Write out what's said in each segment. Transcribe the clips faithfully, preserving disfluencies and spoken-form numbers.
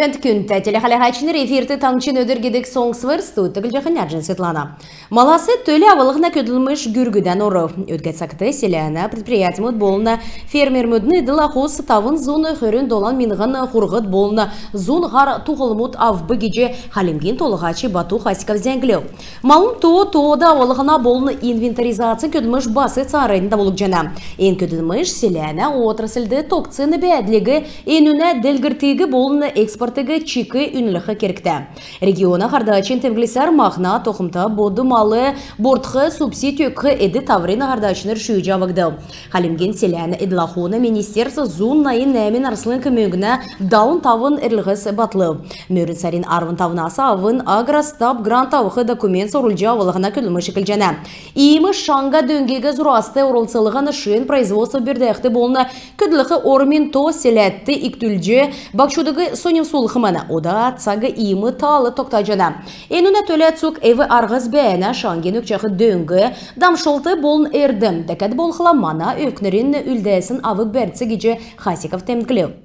Пент күн тәтелі қалағачыныр эфирті таңчын өдіргедік соңсывыр стуыттығыл жақын әржін Светлана. Маласы төлі авылығына көділміш гүргіден оры. Өтгет сақыты селяна предприятимут болына фермер мүдіні дыла қос тавын зоны хөрін долан минғын құрғыт болына зон ғар туғылмут авбы геже халимген толығачы бату хасиков зәңгілеу. Малын то-тода авылығына болына инвентаризация көділміш басы царайында болық жана. Ен көділміш селяна отраслды тоқцыны бәділігі енуіне дәлгіртегі болына экспортыгы чикі үніліқі керікті. Региона қардачын темглисар мақна тоқымта боды малы бортқы субсидиюқы эді таврина қардачыныр шүйі жавыгды. Халимген селяны эдлахуны министерство зуннайын нәмін арсылын көмегіні даун тавын әрліғіс батлы. Мөрін сарин арвын тавынасы авын агростап грант авықы документ сорулжа авылығына көлімі шекіл жана. Иімі шанға дөңгегі зұрасты орылсылығын шын производство бердіқті болына көділіқі ормен то селәтті иктүлжі бақшудығы сонем сулықыманы. Ода цағы иімі талы тоқта жана. Енуна төлі цук әві арғыз бәйіна шанген өкчақы дөңгі дамшылты болын әрдім. Дәкәді болқыламана өкнерін үлдәсін авық бәртсі геже Хасиков тәмкілеу.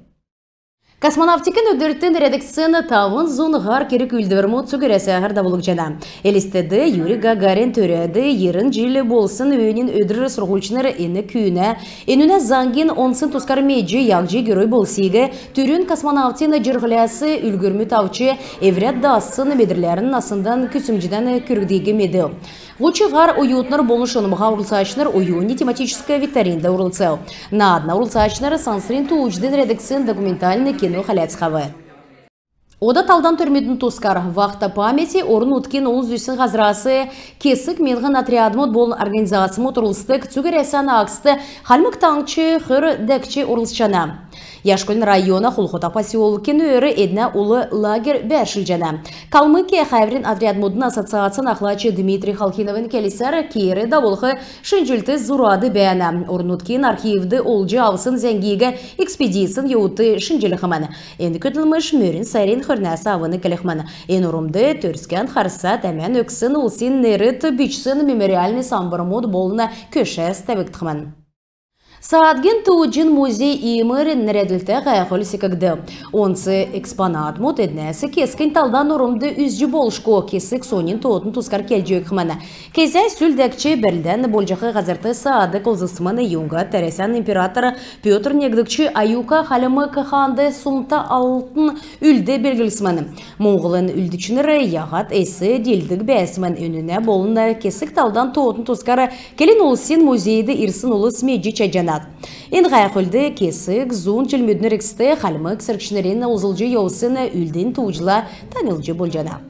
Космонавтикін өдірттін редакцияны тавын зонығар керек үлдівермут сүгіресі ағырда болық жана. Элістеді Юрий Гагарин төреді ерін жилі болсын өйнен өдірі сұрғылчыныр ені күйіне. Енуіне заңген онсын тұскар меджі яғжи герой болсиге түрін космонавтины жырғылясы үлгірмі тавчы еврет дасын бедірлерін насындан күсімжіден күргдегі меді. Лучығар уютныр болышынымға урылсачныр уюни тематическая викторинда урылцел. На одна урылсачныр сансрин туучден редакциян документальный кино халяцхавы. Ода талдан түрметін тускар. Вақта памяти орын уткен ол зүйсін ғазырасы кесік менғын отрядмыд болын организациямы тұрылыстық цүгір әсәні ақсты халмық таңчы хыр дәкчі урылсчана. Яшкөлін района Хулхота поселкен өрі една улы лагер бәршіл жана. Калмыкия хайврин отрядмудын ассоциациян ақлачы Дмитрий Халкиновын келесер кейері даволқы шынжілті зурады бәяна. Орнуткен архивді олжы авысын зәңгегі экспедициян еуты шынжілі қыманы. Енді көтілміш мөрін сайрен хөрнәсі авыны кәліқманы. Ен ұрымды түрскен қарса тәмен өксін ұлсин неріт бичсін мемориальный самбырмуд болына көшәс тәбікті қыманы. Саатген туыджин музей имырын нәреділті ғайқыл секігді. Онсы экспонат мұт әднәсі кескен талдан ұрымды үзжі болшко кесік сонин тоғытын тұскар келжек қыманы. Кезай сүлдәкче бәлдән болжақы ғазырты саады қолзысыманы юнға тәресен императоры Петр Негдікчі аюка қалымы қықанды сумта алтын үлді белгілісіманы. Моңғылын үлдічінірі яғат әсі делдік бәсімен өніне болында кесік талдан тоғытын тұскары келін олсин музейді ирсын ұлы смеджі чәджана. Ен ғайқылды кесік, зун жүлмедінер эксті қалмық сіркшінерін ұзылжы еусыны үлден туғыжыла танылжы болжана.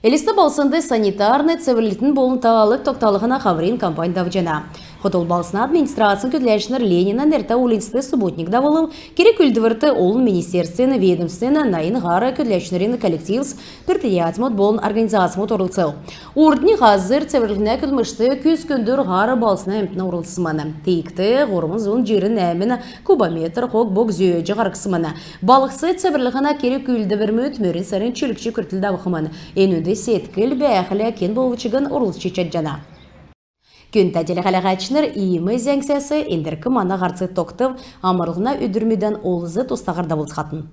Элісті болсынды санитарны цивилитін болын тағалық тоқталығына қаврин компания жана. Хотол балсына администрациян көтләшінер Ленина нерта улинсты субботник давылым, керек үлдівірті олын министерствені, ведомствені, найын ғары көтләшінерін коллективс предприятимот болын организациямот орылцел. Урдни ғазыр цивилитіне күлмішті күз күндір ғары балсына әмтіна орылсыманы. Тейікті ғорымыз ұн жерін әміні кубометр қоқ бок зүйеджі ғарқсыманы. Балықсы цивилихына керек үлдівірмет мөрін сәрін чүлікші күртілді авықыманы. Енуді сеткіл бәйәқілі кен болғычығын орылсчы чаджана. Күн тәделі қалағачыныр иімі зәңсәсі ендіркі мана ғарцы тоқтып, амырылғына өдірмеден олызы тостағырда болсқатын.